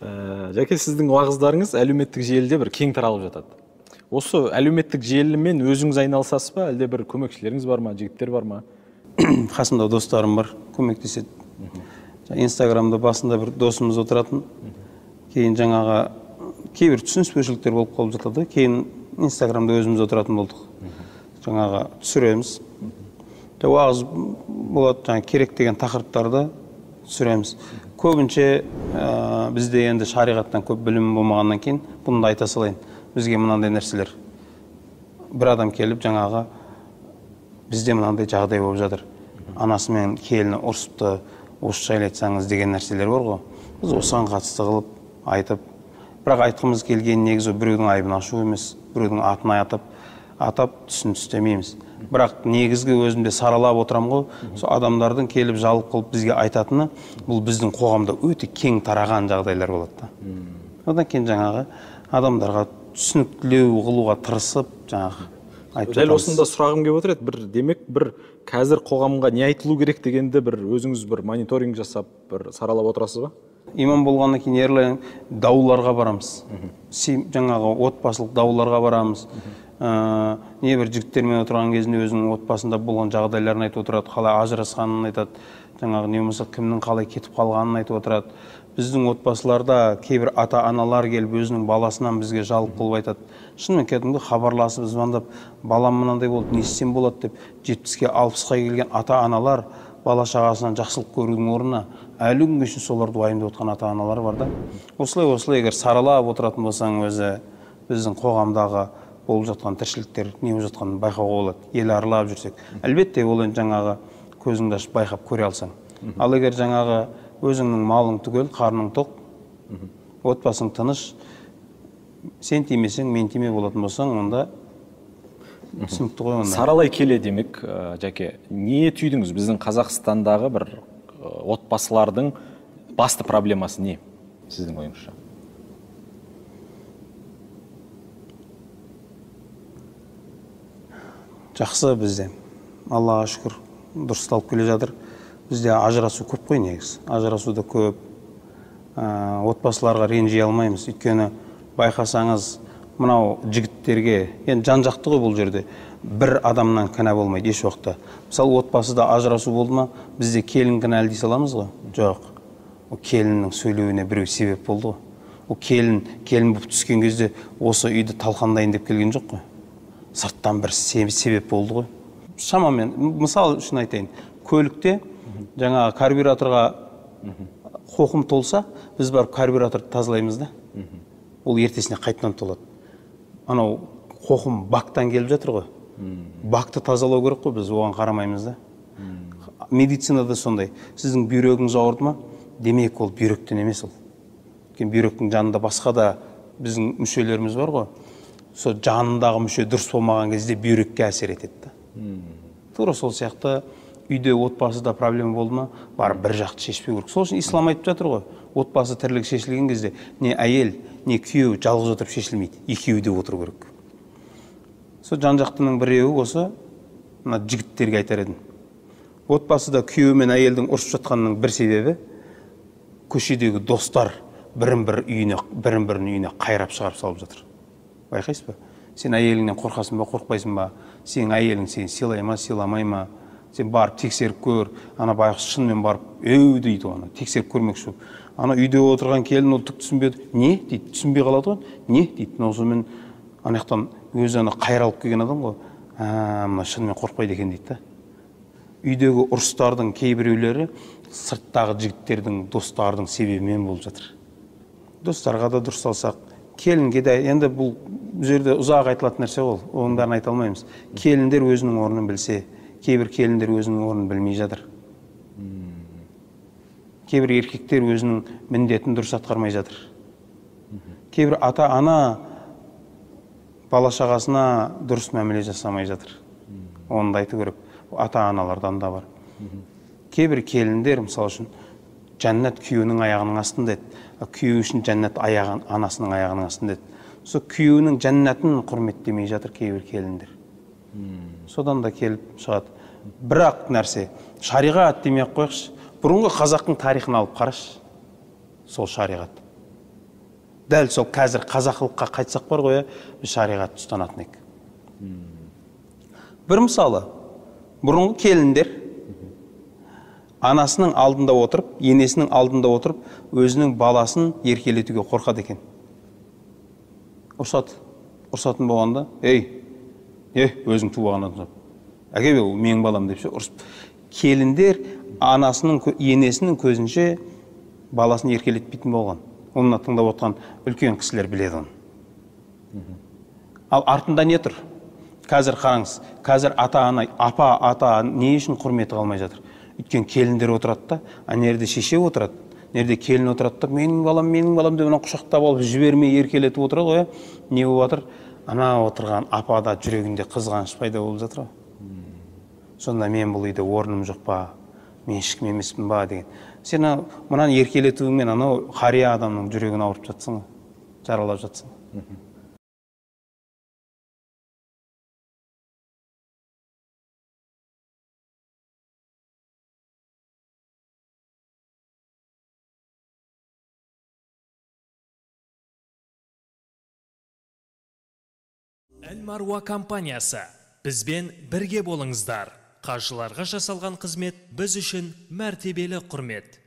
Жаке, сіздің уағыздарыңыз әлеуметтік желіде бір кең таралып жатады. Осы әлеуметтік желімен өзіңіз айналысасыз ба, әлде бір көмекшілеріңіз бар ма, жігіттер бар ма? Қасымда достарым бар, көмектеседі. Инстаграмда басында бір досымыз отыратын, кейін жаңағы кейбір түсініспеушіліктер болып қалып жатады. Кейін Инстаграмда өзіміз отыратын болдық. Жаңағы түсіреміз. Уағыз болады, жаңағы керек деген тақырыптарды түсіреміз. Көбінше бізде енді шариғаттан көп білім болмағаннан кейін бұны да айта салайын. Бізге мынандай нәрселер. Бір адам келіп жаңағы бізде мынандай жағдай болып жатыр. Анасы мен келіні ұрсыпты, осы жайлы айтсаңыз деген нәрселер бар ғой. Біз осыған қатысты қылып айтып, бірақ айтқымыз келген негізі біреудің айыбын ашу емес, біреудің атын атап түсін түстемейміз. Бірақ негізгі өзімде саралап отырам ғой, сол адамдардың келіп жалып қылып бізге айтатыны, бұл біздің қоғамда өте кең тараған жағдайлар болады. Одан кейін жаңағы адамдарға түсініктілеу қылуға тырысып, жаңағы айтып жатамыз. Дәл осында сұрағым келіп отыр еді, демек бір қазір қоғамға не айтылу керек дегенді бір өзіңіз бір мониторинг жасап, бір саралап отырасыз ба? Имам болғаннан кейін ерлі дауларға барамыз. Жаңағы отбасылық дауларға барамыз. Небір жігіттермен отырған кезінде өзінің отбасында болған жағдайларын айтып отырады, қалай ажырасқанын айтады, жаңағы не болмаса кімнің қалай кетіп қалғанын айтып отырады. Біздің отбасыларда кейбір ата-аналар келіп өзінің баласынан бізге жалып қылып айтады. Шынымен кәдімгі хабарласып, звондап, балам мынандай болды, не істесем болады деп 70-ке 60-қа келген ата-аналар бала шағасынан жақсылық көрудің орнына әлі күнге шейін соларды уайымдап отқан ата-аналар бар да. Осылай егер саралап отыратын болсаң өзі біздің қоғамдағы болып жатқан тіршіліктер не болып жатқанын байқауға болады. Ел аралап жүрсек, әлбетте ол енді жаңағы көзіңді ашып байқап көре алсаң. Ал егер жаңағы өзіңнің малың түгел, қарның тоқ, отбасың тыныш, сен тимесең, мен тиме болатын болсаң, онда түсінікті ғой онда. Саралай келе демек, Жаке, не түйдіңіз? Біздің Қазақстандағы бір отбасылардың басты проблемасы не, сіздің ойыңызша? Жақсы бізде, Аллаға шүкір, дұрысталып келе жатыр. Бізде ажырасу көп қой негіз. Ажырасу да көп. Отбасыларға ренжи алмаймыз. Өйткені байқасаңыз, мынау жігіттерге, енді жан-жақты ғой бұл жерде, бір адамнан кінә болмайды еш уақытта. Мысалы, отбасыда ажырасу болды ма, бізде келін кінәлі дей саламыз ғой? Жоқ. Ол келіннің сөйлеуіне біреу себеп болды ғой. Ол келін болып түскен кезде осы үйді талқандайын деп келген жоқ қой. Сырттан бір себеп болды ғой. Шамамен, мысал үшін айтайын, көлікте жаңағы карбюраторға қоқым толса, біз барып карбюраторды тазалаймыз да. Ол ертесіне қайтадан толады. Анау қоқым бактан келіп жатыр ғой. Бакты тазалау керек қой, біз оған қарамаймыз да. Медицинада сондай. Сіздің бүйрегіңіз ауырды ма? Демек ол бүйректен емес ол. Бүйректің жанында басқа да біздің мүшелеріміз бар ғой. Сол жанындағы мүше дұрыс болмаған кезде бүйрекке әсер етеді. Тура сол сияқты үйде отбасыда проблема болды ма, бар бір жақты шешпеу керек. Сол үшін ислам айтып жатыр ғой, отбасы тірлігі шешілген кезде не әйел, не күйеу жалғыз отырып шешілмейді, екеуі де отыру керек. Сол жан-жақтының біреуі осы мына жігіттерге айтар едім. Отбасыда күйеу мен әйелдің ұрысып жатқанының бір себебі көшедегі достар бірін-бірінің үйіне қайрап шығарып салып жатыр. Байқайсыз ба? Сен әйеліңнен қорқасың ба, қорқпайсың ба? Сен әйелің сені сыйлай ма, сыйламай ма? Сен барып тексеріп көр, ана байғұс шынымен барып дейді оны, тексеріп көрмекші. Ана үйде отырған келін ол түк түсінбеді. Не дейді, түсінбей қалады ғой. Не дейді, осымен анаяқтан өзі ана қайралып келген адам ғой. Мына шынымен қорқпайды екен дейді. Үйдегі ұрыстардың кейбіреулері сырттағы жігіттердің, достардың себебімен болып жатыр. Достарға да дұрыс алсақ, келінге де, енді бұл жерде ұзақ айтылатын нәрсе ол, оның бәрін айта алмаймыз. Келіндер өзінің орнын білсе, кейбір келіндер өзінің орнын білмей жатыр. Кейбір еркектер өзінің міндетін дұрыс атқармай жатыр. Кейбір ата-ана бала шағасына дұрыс мәміле жасамай жатыр. Оны да айту керек. Ата-аналардан да бар. Кейбір келіндер, мысалы үшін, жәннат күйеуінің аяғының астында еді. Күйеу үшін жәннат анасының аяғының астында еді. Сол күйеуінің жәннатын құрметтемей жатыр кейбір келіндер. Содан да келіп шығады. Бірақ нәрсе, шариғат демей-ақ қойықшы. Бұрынғы қазақтың тарихын алып қарашы. Сол шариғат. дәл сол қазір қазақылыққа қайтсақ бар ғой, біз шариғатты ұстанатын едік. Бір мысалы, бұрынғы келіндер анасының алдында отырып, енесінің алдында отырып, өзінің баласын еркелетуге қорқады екен. Ұрсатын болғанда, өзің туғаннан соң, әке ол менің балам деп ұрсып. Келіндер енесінің көзінше баласын еркелетпейтін болған. Онына тыңдап отқан үлкен кісілер біледі оны. Ал артында не тұр? Қазір қараңыз, қазір ата-ана, ата не үшін құрметі қалмай жатыр? Өйткені келіндер отырады да, нерде шеше отырады, нерде келін отырады да, менің балам деп құшақтап алып жібермей еркелетіп отырады ғой. Не болып жатыр? Ана отырған апада жүрегінде қызғаныш пайда болып жатыр ғой. Сонда мен бұл үйде орным жоқ па, мен ешкім емеспін ба деген. Сен мынаны еркелетуіңмен анау қария адамның жүрегін ауырып жатсың, жаралап жатсың. Әл-Маруа компаниясы. Бізбен бірге болыңыздар. Қажыларға жасалған қызмет біз үшін мәртебелі құрмет.